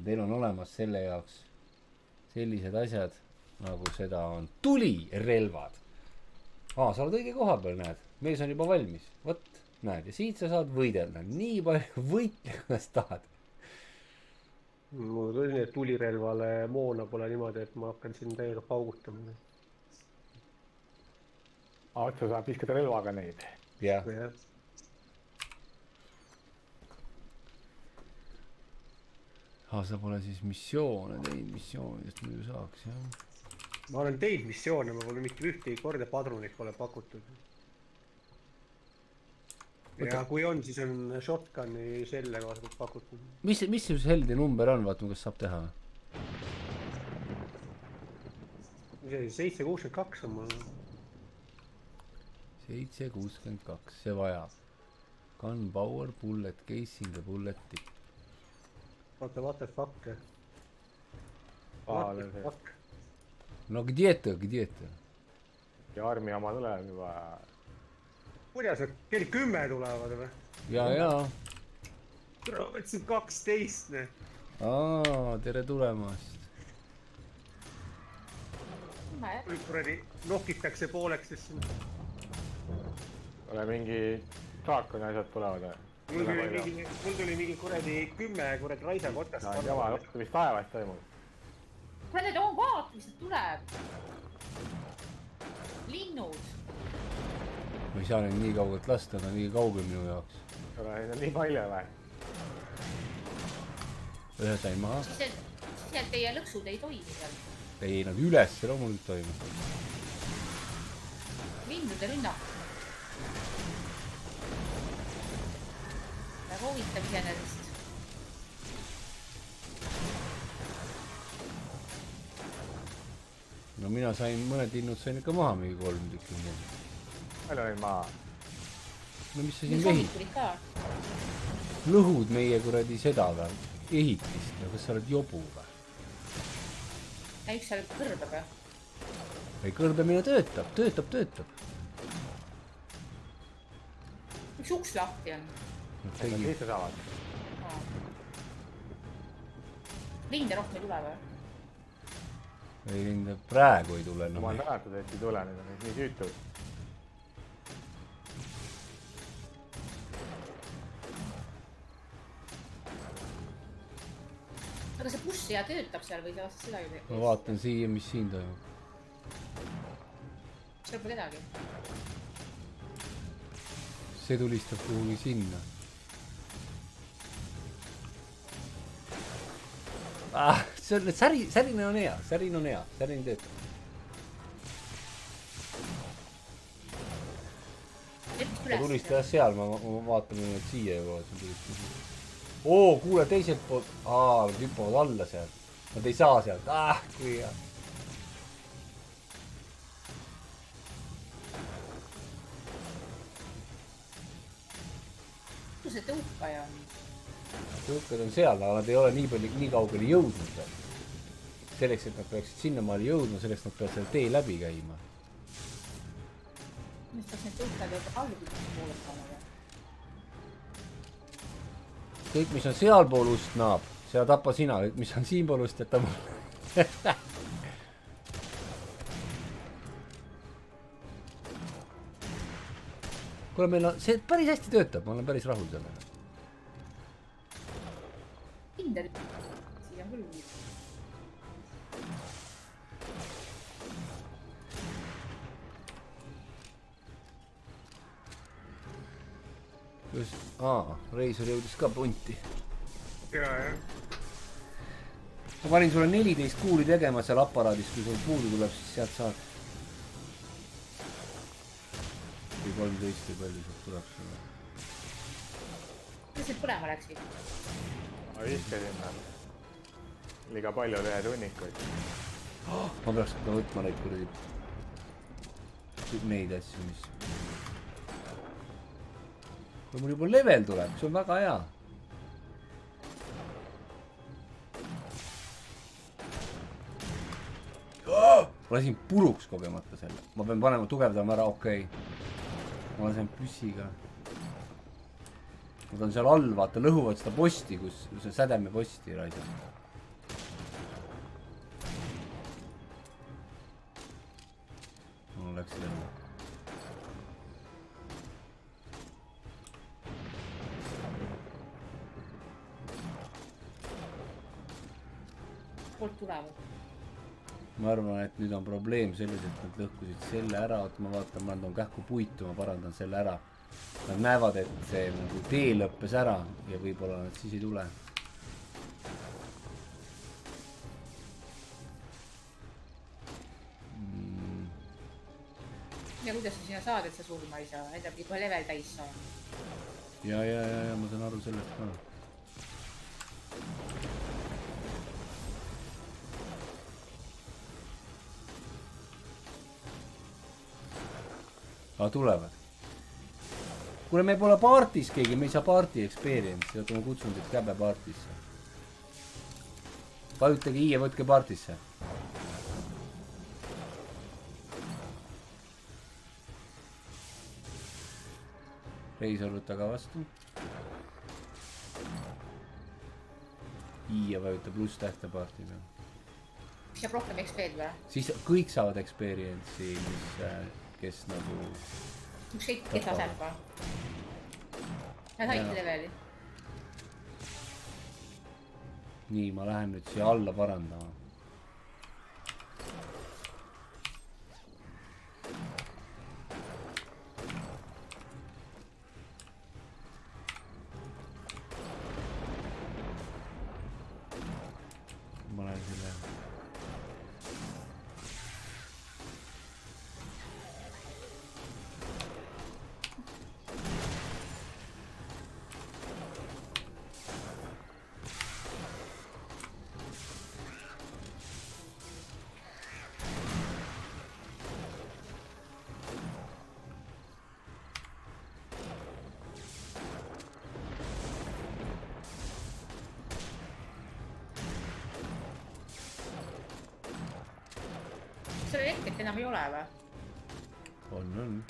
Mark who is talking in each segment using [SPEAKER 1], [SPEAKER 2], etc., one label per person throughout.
[SPEAKER 1] teil on olemas selle jaoks sellised asjad, nagu seda on tulirelvad. Sa oled õige koha peal, näed. Mees on juba valmis. Võt, näed. Ja siit sa saad võidelda. Nii palju võitle, kuidas tahad.
[SPEAKER 2] Mul tuli, et tulirelvale moona pole niimoodi, et ma hakkan siin täiega paugutama.
[SPEAKER 3] Otsa saab viskada relvaga neid.
[SPEAKER 1] Jah. Sa pole siis missioone teinud, missioonidest muidu saaks, jah.
[SPEAKER 2] Ma olen teinud missioone, ma pole mitte ühtegi korda padrunit pole pakutud. Ja kui on, siis on shotgun'i selle kaasalt pakutud.
[SPEAKER 1] Mis see helde number on, vaatame, kas saab teha?
[SPEAKER 2] Mis see 762 on mul?
[SPEAKER 1] 762, see vajab. Gunpower, bullet casing ja bullet tip.
[SPEAKER 2] What the fuck? No
[SPEAKER 1] где это?
[SPEAKER 3] Ja armi oma tuleb juba.
[SPEAKER 2] Kuidas nad kell 10 tulevad või?
[SPEAKER 1] Jaa.
[SPEAKER 2] Võtsin 12.
[SPEAKER 1] Tere tulemast.
[SPEAKER 2] Kui kuradi nokitakse pooleks, siis
[SPEAKER 3] ole mingi draakoni asjad tulevad.
[SPEAKER 2] Mul tuli mingi kuradi 10 kuradi raisa kotast.
[SPEAKER 3] Jama, mis taevast toimub?
[SPEAKER 4] Kuule, need on vaat, mis nad tuleb. Linnud.
[SPEAKER 1] Ma ei saa neid nii kaugelt lasta, nad on nii kaugel minu jaoks.
[SPEAKER 3] Neid on nii palju või?
[SPEAKER 1] Ühe sain maha.
[SPEAKER 4] Siis teie lõksud ei toimi seal.
[SPEAKER 1] Ei, nad üles loomulikult toimuvad.
[SPEAKER 4] Lindude rünnak. Väga huvitav iseenesest.
[SPEAKER 1] No mina sain, mõned linnud sain ikka maha mingi 3 tükki.
[SPEAKER 3] Palju neid maha?
[SPEAKER 1] No mis sa siin vehid? Lõhud meie kuradi seda või? Ehitist ja kas sa oled jobu või?
[SPEAKER 4] Ja üks seal kõrbeb või?
[SPEAKER 1] Ei, kõrbemine töötab.
[SPEAKER 4] Üks uks lahti on.
[SPEAKER 3] Sisse saavad.
[SPEAKER 4] Linde rohkem ei tule või?
[SPEAKER 1] Ei, linde praegu ei tule.
[SPEAKER 3] Ma olen tänatud, et ei tule, need on nii süütud.
[SPEAKER 4] Aga see bussi ja töötab seal või see seda ju?
[SPEAKER 1] Ma vaatan siia, mis siin toimub.
[SPEAKER 4] Seal pole kedagi.
[SPEAKER 1] See tulistab kuhugi sinna. Särin on hea, särin töötab. Ta tulistas seal, ma vaatan nüüd siia juba. Kuule teiselt poolt. Nad hüppavad alla seal. Nad ei saa sealt. Kui hea.
[SPEAKER 4] Kus see tõukaja on?
[SPEAKER 1] Tõukad on seal, aga nad ei ole nii kaugele jõudnud. Selleks, et nad peaksid sinnamaale jõudma, selleks nad peavad selle tee läbi käima.
[SPEAKER 4] Mis peaks need tõukad allukütuse poole panema?
[SPEAKER 1] Kõik, mis on sealpool ust naab, seda tappa sina. Kõik, mis on siinpool ust, jätta mul. Kuule, meil on... See päris hästi töötab, ma olen päris rahul sellega.
[SPEAKER 4] Kindel. Siia on küll nii. Reisur jõudis ka punti.
[SPEAKER 2] Jah.
[SPEAKER 1] Ma panin sulle 14 kuuli tegema seal aparaadis, kui sul puudu tuleb, siis sealt saad. Või 13 või palju sealt tuleb sulle.
[SPEAKER 4] Mis need põlema läksid?
[SPEAKER 3] Ma viskasin liiga palju ühe tunnikuid.
[SPEAKER 1] Ma peaks ka võtma neid kuradi neid asju, mis... Kui mul juba level tuleb, see on väga hea. Ma lasin puruks kogemata selle. Ma pean panema tugevdama ära, okei. Ma lasen püssiga. Nad on seal all, vaata, lõhuvad seda posti, kus see sädeme posti raisab. läksid ära.
[SPEAKER 4] poolt tulevad.
[SPEAKER 1] ma arvan, et nüüd on probleem selles, et nad lõhkusid selle ära, oot ma vaatan, ma toon kähku puitu, ma parandan selle ära. Nad näevad, et see nagu tee lõppes ära ja võib-olla nad siis ei tule.
[SPEAKER 4] ja kuidas sa sinna saad, et sa surma ei saa, enda pidi kohe level täis saama.
[SPEAKER 1] ja ma saan aru sellest ka. aga tulevad. kuule, me pole partis keegi, me ei saa party experience'i, oota ma kutsun teid käbe partisse. vajutage i ja võtke partisse. Reisor, võta ka vastu. i ja vajuta pluss tähte parti peal.
[SPEAKER 4] mis saab rohkem XP-d või?
[SPEAKER 1] siis kõik saavad experience'i, mis, kes nagu
[SPEAKER 4] ükskõik kes aseb ka. Nad saidki leveli.
[SPEAKER 1] nii, ma lähen nüüd siia alla parandama. ma lähen selle
[SPEAKER 4] seal elektrit enam ei ole või?
[SPEAKER 1] on.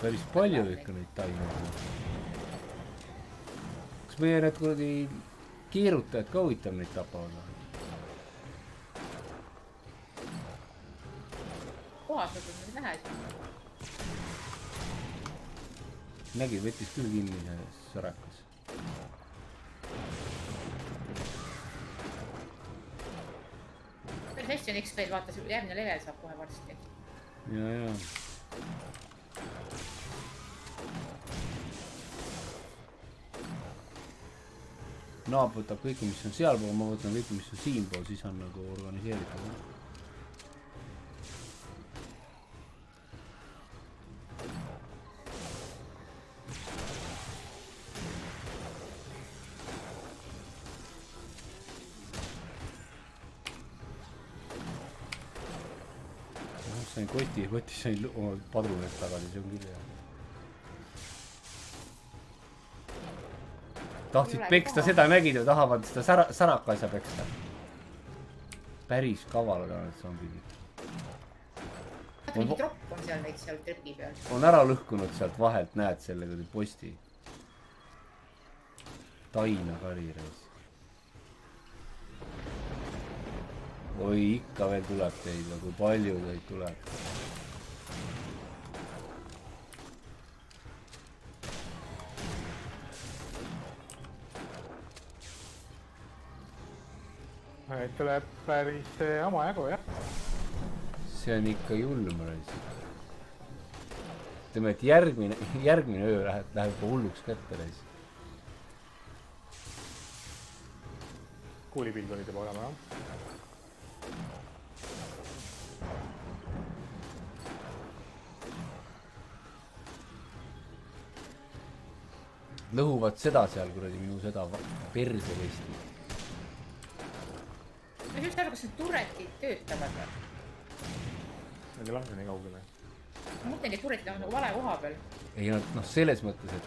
[SPEAKER 1] päris palju ikka neid taimeid. kas meie need kuradi keerutajad ka huvitav neid tapavad?
[SPEAKER 4] kohas võtad neid vähe siin.
[SPEAKER 1] nägi, võttis küll kinni see sõrakas.
[SPEAKER 4] päris hästi on XP-d, vaata, järgmine level saab kohe varsti.
[SPEAKER 1] ja. naab võtab kõike, mis on sealpool, ma võtan kõike, mis on siinpool, siis on nagu organiseeritud. sain kotis sain oma padruneid tagasi, see on küll hea. tahtsid peksta, seda nägid ja tahavad seda saraka asja peksta. päris kavalad on need zombid.
[SPEAKER 4] mingi tropp on seal neid seal trepi peal.
[SPEAKER 1] on ära lõhkunud sealt vahelt, näed selle kuradi posti. Taina karireis. oi, ikka veel tuleb teid, kui palju teid tuleb.
[SPEAKER 3] Neid tuleb päris omajagu, jah.
[SPEAKER 1] see on ikka julm reis. ütleme, et järgmine öö läheb juba hulluks kätte reis.
[SPEAKER 3] kuulipildunid juba olema, jah.
[SPEAKER 1] lõhuvad seda seal kuradi minu seda perse vesti.
[SPEAKER 4] ma ei saa aru, kas need turretid töötavad või?
[SPEAKER 3] Need ei lase nii kaugele.
[SPEAKER 4] ma mõtlengi, et turretid on nagu vale koha peal.
[SPEAKER 1] ei nad noh, selles mõttes, et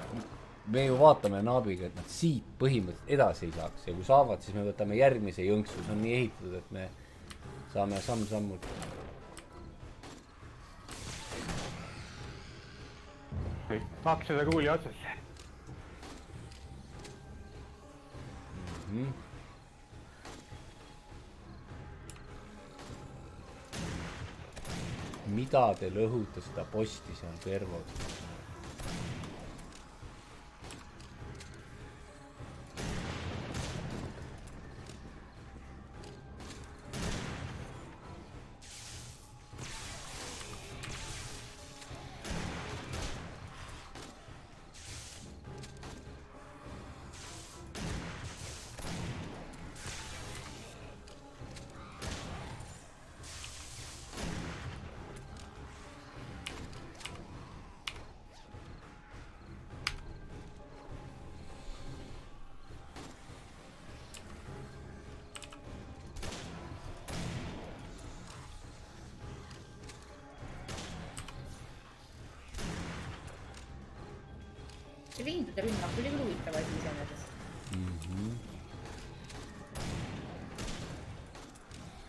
[SPEAKER 1] me ju vaatame naabiga, et nad siit põhimõtteliselt edasi ei saaks ja kui saavad, siis me võtame järgmise jõnksu, see on nii ehitatud, et me saame samm-sammult.
[SPEAKER 3] Maks seda kuuli otsas.
[SPEAKER 1] Mida te lõhute seda posti seal Pervod?
[SPEAKER 4] See lindude rünnak oli küll huvitav asi iseenesest.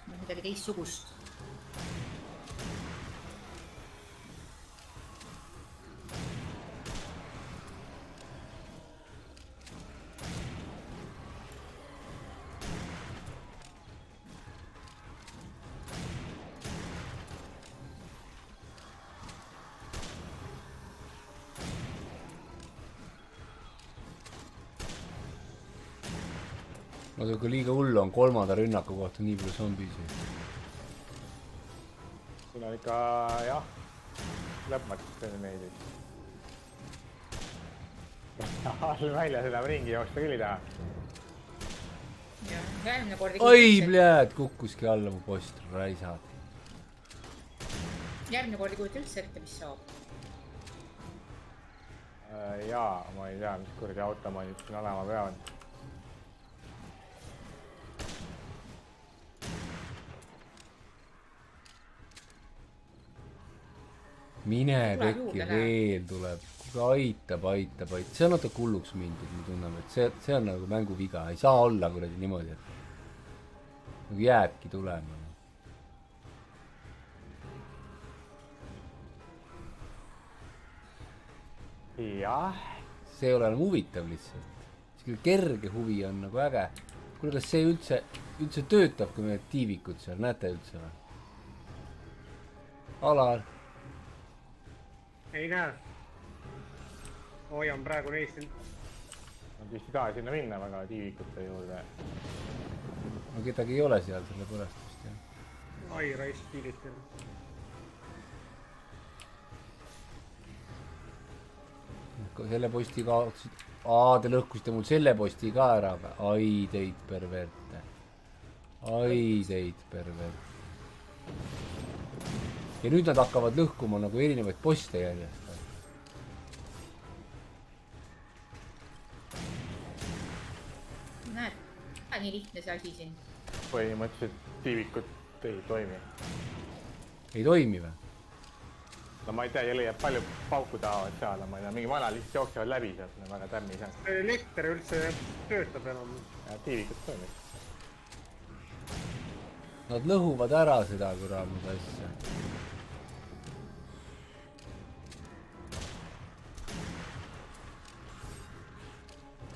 [SPEAKER 4] Midagi teistsugust.
[SPEAKER 1] Aga liiga hullu on kolmanda rünnaku kohta nii palju zombisid.
[SPEAKER 3] Siin on ikka, jah, lõpmatuseni meeldib. All väljas enam ringi jooksta küll ei taha.
[SPEAKER 4] Jah, järgmine kord...
[SPEAKER 1] Oi, pljääd, kukkuski alla mu post, raisad.
[SPEAKER 4] Järgmine kord ei kujuta üldse ette, mis saab.
[SPEAKER 3] Jaa, ma ei tea, mis kurdi automaanid siin olema peavad.
[SPEAKER 1] Mine tekki, veel tuleb. Aitab. See on natuke hulluks mindud, me tunneme, et see on nagu mängu viga. Ei saa olla kuradi niimoodi, et nagu jääbki tulema.
[SPEAKER 3] Jah.
[SPEAKER 1] See ei ole enam huvitav lihtsalt. See kerge huvi on nagu äge. Kuule, kas see üldse töötab, kui me tiivikud seal, näete üldse või? Alar.
[SPEAKER 2] Ei näe. Hoian praegu neist.
[SPEAKER 3] Ma vist ei taha sinna minna väga tiivikute juurde.
[SPEAKER 1] No kedagi ei ole seal selle pärast vist, jah.
[SPEAKER 2] Ai, raisk piiritel.
[SPEAKER 1] Selle posti kaotsid. Te lõhkusite mul selle posti ka ära. Ai teid perverte. Ja nüüd nad hakkavad lõhkuma nagu erinevaid poste järjest.
[SPEAKER 4] Näed, nii lihtne see asi siin.
[SPEAKER 3] Põhimõtteliselt tiivikud ei toimi.
[SPEAKER 1] Ei toimi või?
[SPEAKER 3] No ma ei tea, jälle jääb palju pauku tahavad seal, ma ei tea, mingi vana lihtsalt jooksevad läbi sealt, väga tämmi seal.
[SPEAKER 2] Elekter üldse töötab enam.
[SPEAKER 3] Ja tiivikud toimib.
[SPEAKER 1] Nad lõhuvad ära seda kuramud asja.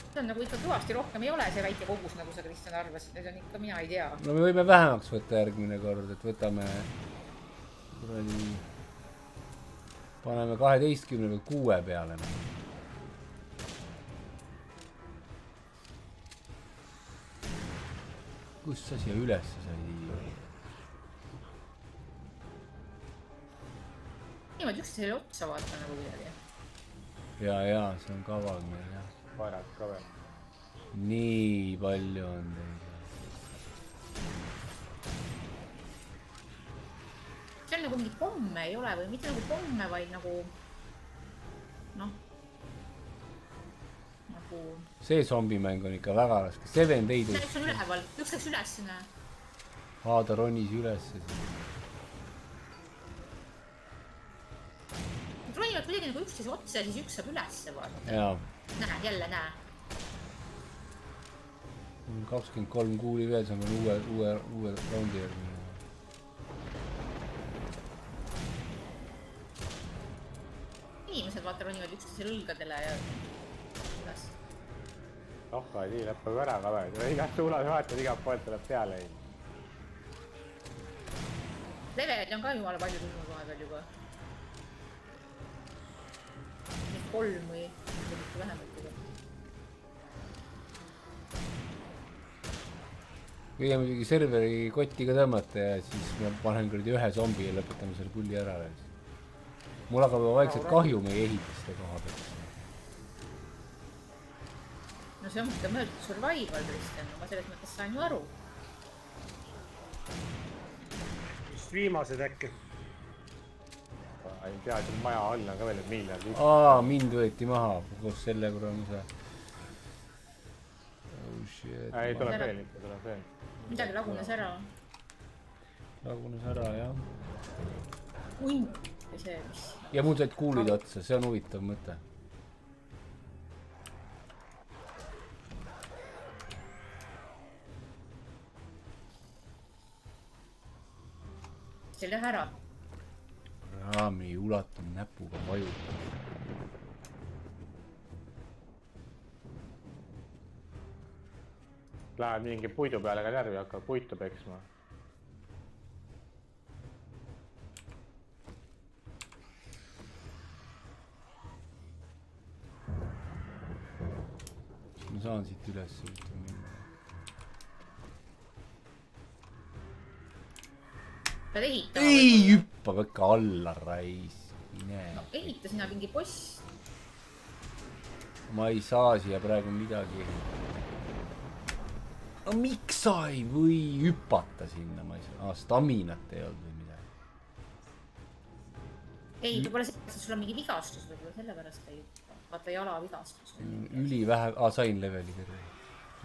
[SPEAKER 4] See on nagu ikka kõvasti rohkem ei ole see väike kogus, nagu sa Kristjan arvasid, need on ikka, mina ei tea.
[SPEAKER 1] No me võime vähemaks võtta järgmine kord, et võtame kuradi paneme 12 või 6 peale. Kus sa siia üles sai?
[SPEAKER 4] Niimoodi just selle otsa vaata nagu kuidagi.
[SPEAKER 1] Ja, see on kaval meil, jah.
[SPEAKER 3] Vairad ka veel.
[SPEAKER 1] Nii palju on teid.
[SPEAKER 4] See on nagu mingi pomme ei ole või mitte nagu pomme, vaid nagu noh nagu
[SPEAKER 1] see zombimäng on ikka väga raske. Seven Days.
[SPEAKER 4] See üks on üleval, üks läks üles näe.
[SPEAKER 1] Ta ronis üles.
[SPEAKER 4] ronivad kuidagi nagu üksteise otsa ja siis üks saab ülesse vaadata.
[SPEAKER 1] jaa.
[SPEAKER 4] Näe, jälle näe.
[SPEAKER 1] 23 kuuli veel, see on uue raundi järgi.
[SPEAKER 4] Inimesed vaata ronivad üksteisele õlgadele ja üles.
[SPEAKER 3] ei tii, lõppeb ära ka veel. Igat suunas vaatad, igalt poolt tuleb peale.
[SPEAKER 4] Levelid on ka jumala palju tulnud vahepeal juba. 3 või mitte vähemalt juba.
[SPEAKER 1] võime muidugi serveri kotti ka tõmmata ja siis ma panen kuradi ühe zombi ja lõpetame selle pulli ära. Mul hakkab vaikselt kahju meie ehitiste koha pealt.
[SPEAKER 4] No see on ikka mõeldud survival, Kristjan, ma selles mõttes saan ju aru.
[SPEAKER 2] Just viimased äkki.
[SPEAKER 3] Ei tea, siin maja all on ka veel miljard.
[SPEAKER 1] Mind võeti maha koos selle kuramise. Oh shit.
[SPEAKER 3] Ei, tuleb veel ikka, tuleb veel.
[SPEAKER 4] Midagi lagunes ära.
[SPEAKER 1] Lagunes ära, jah.
[SPEAKER 4] Hunt ja see, mis...
[SPEAKER 1] Ja mul said kuulid otsa, see on huvitav mõte.
[SPEAKER 4] See lähe ära.
[SPEAKER 1] Raami ulatab näpuga vaju.
[SPEAKER 3] Läheb mingi puidu peale ka närvi, hakkab puitu peksma.
[SPEAKER 1] Ma saan siit üles minna.
[SPEAKER 4] Pead ehitama.
[SPEAKER 1] Ei hüppa ikka alla raisk.
[SPEAKER 4] No ehita sinna mingi boss.
[SPEAKER 1] Ma ei saa siia praegu midagi. No miks sa ei või hüpata sinna? Ma ei saa. Staminat ei olnud või midagi.
[SPEAKER 4] Ei, võib-olla see, et sul on mingi vigastus, võib-olla sellepärast ei hüppa. Vaata jala vigastus.
[SPEAKER 1] Üli vähe. Sain leveli kõrve.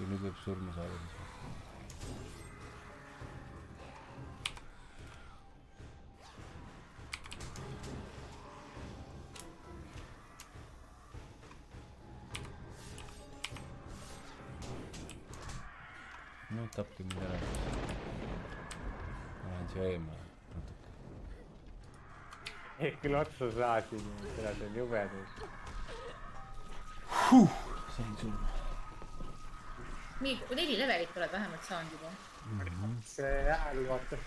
[SPEAKER 1] Nüüd võib surma saada. No tapki mind ära. Ma lähen siia eemale natuke.
[SPEAKER 3] Küll otsa saasin, seda see on jubedus.
[SPEAKER 1] Sain surma.
[SPEAKER 4] Nii, 4 levelit oled vähemalt saanud juba.
[SPEAKER 2] See hääl, vaata.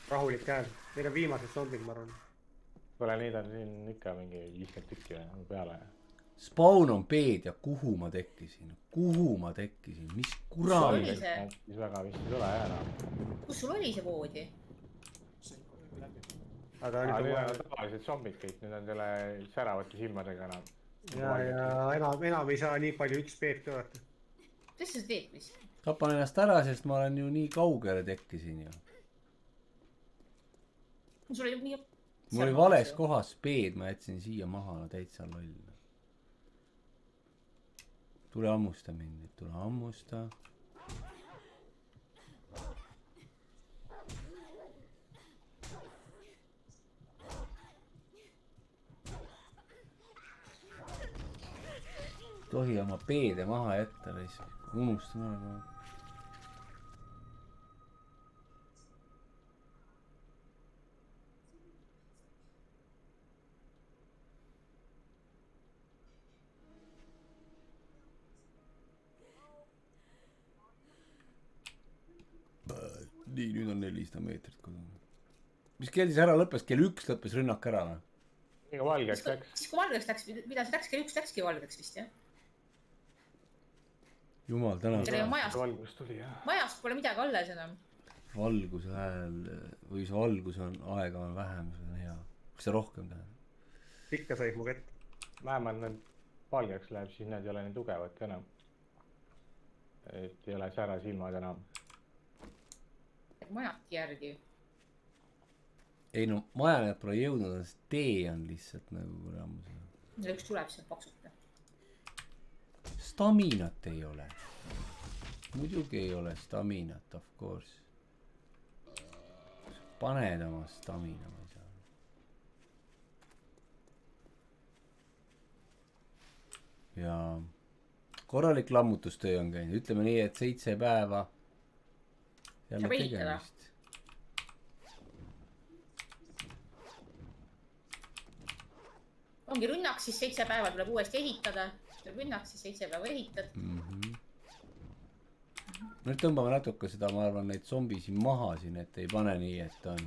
[SPEAKER 2] Rahulik hääl. Meil on viimased zombid, ma arvan.
[SPEAKER 3] Kuule, neid on siin ikka mingi 50 tükki või peale.
[SPEAKER 1] Spawn on peed ja kuhu ma tekkisin? Kuhu ma tekkisin? Mis kurami?
[SPEAKER 3] Siis väga vist ei tule ära.
[SPEAKER 4] Kus sul oli see voodi?
[SPEAKER 2] Aga
[SPEAKER 3] nüüd on tavalised zombid kõik, nüüd on selle säravate silmadega enam.
[SPEAKER 2] Ja enam ei saa nii palju XP-d ka vaata.
[SPEAKER 4] Mis sa teed, mis?
[SPEAKER 1] Tapan ennast ära, sest ma olen ju nii kaugele tekkisin ju.
[SPEAKER 4] Sul oli nii...
[SPEAKER 1] Mul oli vales kohas peed, ma jätsin siia maha, no täitsa loll. Tule ammusta mind, tule ammusta. Tohi oma peede maha jätta, unustan ära. Nii, nüüd on 400 meetrit kodune. Mis kell siis ära lõppes? Kell 1 lõppes rünnak ära, või?
[SPEAKER 3] Ega valgeks läks.
[SPEAKER 4] Siis kui valgeks läks, mida see läks? Kell 1 läkski valgeks vist, jah?
[SPEAKER 1] Jumal, täna.
[SPEAKER 3] Valgus tuli, jah.
[SPEAKER 4] Majast pole midagi alles enam.
[SPEAKER 1] Valguse hääl, või see valgus on, aega on vähem, see on hea. Kas see rohkem tähendab?
[SPEAKER 2] Pikka sai mu kätt.
[SPEAKER 3] Vähemalt need valgeks läheb, siis need ei ole nii tugevad ka enam. Et ei ole sära silmad enam.
[SPEAKER 4] Majati järgi.
[SPEAKER 1] Ei no, majanejad pole jõudnud, sest tee on lihtsalt nagu kuraamus.
[SPEAKER 4] Üks tuleb sealt paksuta.
[SPEAKER 1] Staminat ei ole. Muidugi ei ole staminat, of course. Paned oma stamina, ma ei saa. ja korralik lammutustöö on käinud, ütleme nii, et 7 päeva jälle
[SPEAKER 4] Saab ehitada.
[SPEAKER 1] tegemist.
[SPEAKER 4] ongi rünnak, siis 7 päeva tuleb uuesti ehitada. tuleb rünnak, siis 7 päeva ehitad.
[SPEAKER 1] Nüüd tõmbame natuke seda, ma arvan, neid zombisi maha siin, et ei pane nii, et on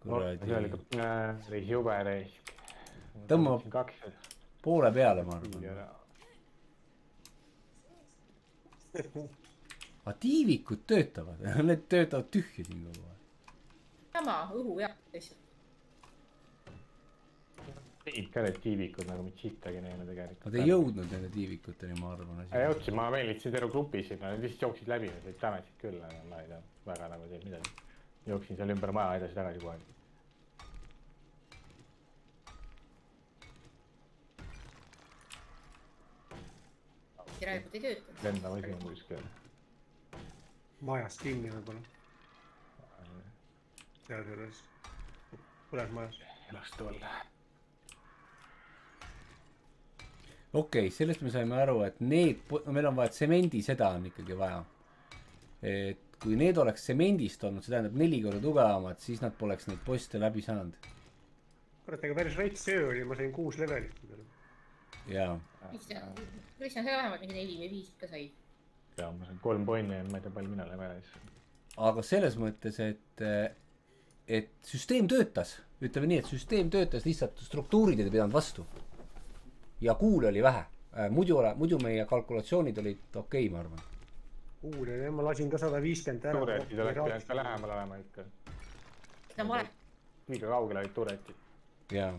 [SPEAKER 3] see oli reis jube reis.
[SPEAKER 1] Tõmbab
[SPEAKER 3] 2
[SPEAKER 1] poole peale, ma arvan. Aga tiivikud töötavad, need töötavad tühja siin kogu aeg.
[SPEAKER 4] sama õhu jah, lihtsalt.
[SPEAKER 3] Tegid ka need tiivikud nagu mitte sittagi neile tegelikult.
[SPEAKER 1] Nad ei jõudnud nende tiivikuteni, ma arvan.
[SPEAKER 3] Jõudsin, ma meelitasin terve grupi sinna, nad lihtsalt jooksid läbi, need tämetsid küll, ma ei tea, väga nagu teeb midagi. Jooksin seal ümber maja edasi-tagasi kogu aeg.
[SPEAKER 4] Järelikult ei tööta.
[SPEAKER 3] Lendav asi on kuskil.
[SPEAKER 2] Majas kinni võib-olla. Seal selles. Põles majas.
[SPEAKER 3] Lastu all.
[SPEAKER 1] Okei, sellest me saime aru, et need, meil on vaja tsemendi, seda on ikkagi vaja. Et kui need oleks tsemendist olnud, see tähendab 4 korda tugevamad, siis nad poleks neid poste läbi saanud.
[SPEAKER 2] Kurat, ega päris rets öö oli, ma sain 6 levelit.
[SPEAKER 1] Jaa.
[SPEAKER 4] Kristjan, sa vähemalt mingi 4 või 5 ikka sai.
[SPEAKER 3] Ja ma sain 3 poinni ja ma ei tea palju mina levelis.
[SPEAKER 1] Aga selles mõttes, et süsteem töötas. Ütleme nii, et süsteem töötas, lihtsalt struktuurid ei pidanud vastu. Ja kuule oli vähe. Muidu meie kalkulatsioonid olid okei, ma arvan.
[SPEAKER 2] Kuule, ma lasin ka 150 ära.
[SPEAKER 3] Turetid oleks pidanud ka lähemal olema ikka.
[SPEAKER 4] Seda ma olen.
[SPEAKER 3] Liiga kaugel olid turetid.
[SPEAKER 1] Jaa.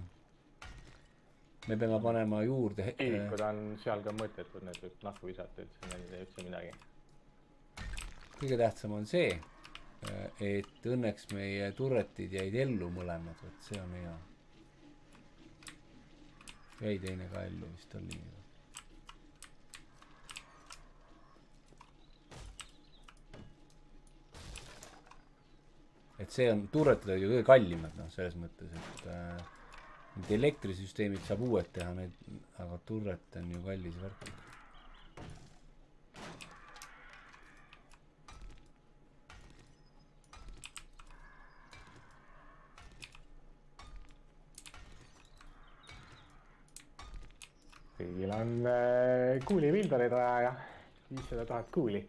[SPEAKER 1] Me peame panema juurde.
[SPEAKER 3] Tiivikud on seal ka mõttetud, need võib nahku visata, et see ei tee üldse midagi.
[SPEAKER 1] Kõige tähtsam on see, et õnneks meie turretid jäid ellu mõlemad, et see on hea. Jäi teine ka ellu vist oli. Et see on, turretid olid ju kõige kallimad, noh, selles mõttes, et need elektrisüsteemid saab uued teha, aga turret on ju kallis värk.
[SPEAKER 3] Kõigil on kuuli Vildoreid vaja ja 500 000 kuuli.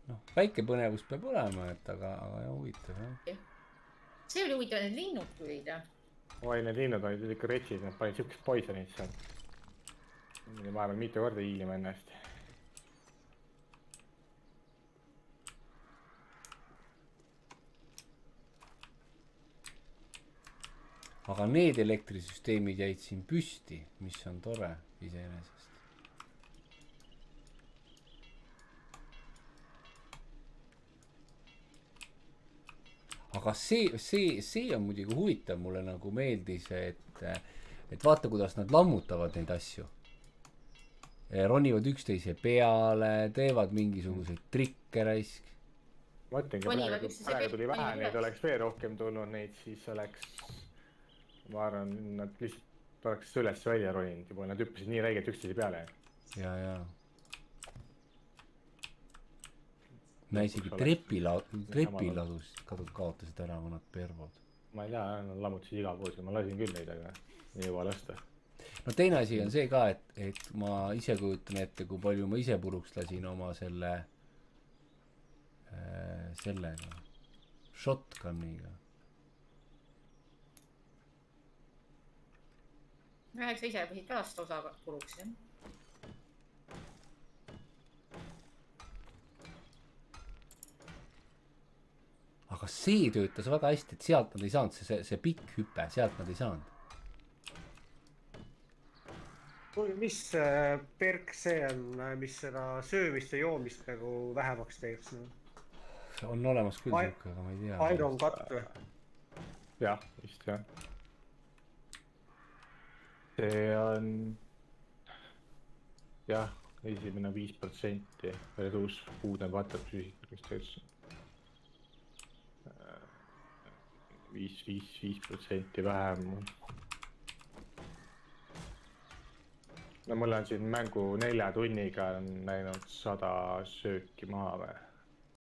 [SPEAKER 1] Noh, väike põnevus peab olema, et aga huvitav, jah.
[SPEAKER 4] See oli huvitav, need linnud tulid, jah.
[SPEAKER 3] Oi, need linnud olid ikka retsid, nad panid siukest poisonit seal. Vahepeal mitu korda hiilima ennast.
[SPEAKER 1] Aga need elektrisüsteemid jäid siin püsti, mis on tore iseenesest. Aga see on muidugi huvitav, mulle nagu meeldis, et vaata, kuidas nad lammutavad neid asju. Ronivad üksteise peale, teevad mingisuguseid trikke raisk.
[SPEAKER 3] Ma ütlengi, praegu tuli vähe, neid oleks veel rohkem tulnud, neid siis oleks, ma arvan, nad lihtsalt oleks üles välja roninud juba, nad hüppasid nii räigelt üksteise peale.
[SPEAKER 1] Ja. Me isegi trepiladus kaotasid ära mõned pervod.
[SPEAKER 3] Ma ei tea, nad lammutasid igal pool, ma lasin küll neid, aga ei jõua lasta.
[SPEAKER 1] No teine asi on see ka, et ma ise kujutan ette, kui palju ma ise puruks lasin oma sellega, shotguniga.
[SPEAKER 4] Eks sa ise võisid ka lasta osa puruks, jah.
[SPEAKER 1] Aga see töötas väga hästi, et sealt nad ei saanud, see pikk hüpe, sealt nad ei saanud.
[SPEAKER 2] Mis perk see on, mis seda söömist ja joomist nagu vähemaks teeks?
[SPEAKER 1] On olemas küll siuke, aga ma ei tea.
[SPEAKER 2] Iron Cut või?
[SPEAKER 3] Jah, vist jah. See on jah, esimene 5% reduus food and water psüüsikast 5% vähem. no mul on siin mängu 4 tunniga läinud 100 sööki maha või?